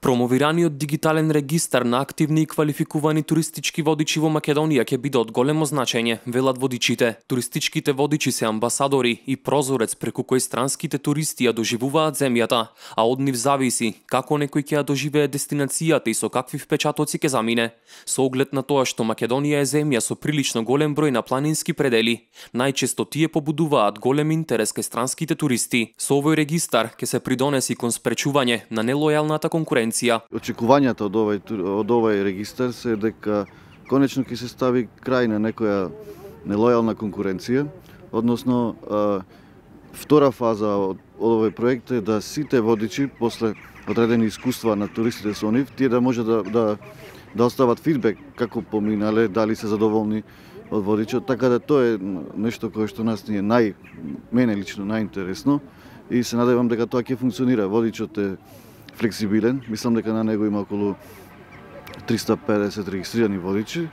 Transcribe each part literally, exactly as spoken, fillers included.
Промовираниот дигитален регистар на активни и квалификувани туристички водичи во Македонија ќе биде од големо значење, велат водичите. Туристичките водичи се амбасадори и прозорец преку кој странските туристи ја доживуваат земјата, а од нив зависи како некој ќе ја доживее дестинацијата и со какви впечатоци ќе замине. Со оглед на тоа што Македонија е земја со прилично голем број на планински предели, најчесто тие побудуваат голем интерес кај странските туристи. Со овој регистар ќе се придонеси кон спречување на нелојалната конкуренција. Очекувањата од овој од овој регистар се дека конечно ќе се стави крај на некоја нелојална конкуренција, односно втора фаза од, од овој проект е да сите водичи после одредени искуства на туристите со нив, тие да може да да да остават фидбек како поминале, дали се задоволни од водичот, така да тоа е нешто кое што нас ни е нај мене лично најинтересно и се надевам дека тоа ќе функционира. Водичот е флексибилен, мислам дека на него има околу триста и педесет регистрирани водичи,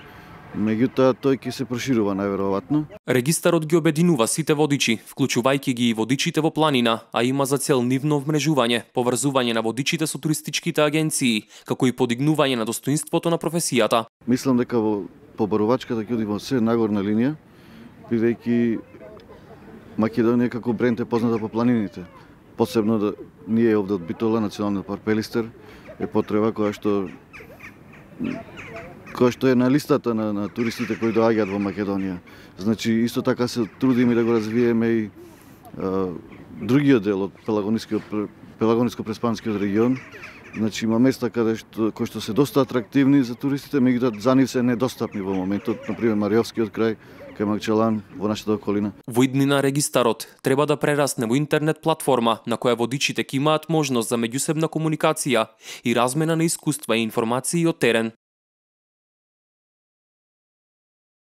меѓутоа тој ќе се проширува најверојатно. Регистарот ги обединува сите водичи, вклучувајќи ги и водичите во планина, а има за цел нивно вмрежување, поврзување на водичите со туристичките агенции, како и подигнување на достоинството на професијата. Мислам дека во побарувачката ќе оди во се нагорна линија, бидејќи Македонија како бренд е позната по планините. Посебно да ние овде од Битола, Националниот парк Пелистер, е потреба која што која што е на листата на, на туристите кои доаѓаат во Македонија. Значи исто така се трудиме да го развиеме и а, другиот дел од Пелагонискиот Пелагониско-Преспанскиот регион. Значи има места каде што кои што се доста атрактивни за туристите, меѓутоа за нив се недостапни во моментот, на пример Мариовскиот крај, кај Макчалан, во нашата околина. Во иднина регистарот треба да прерасне во интернет платформа на која водичите ќе имаат можност за меѓусебна комуникација и размена на искуства и информации од терен.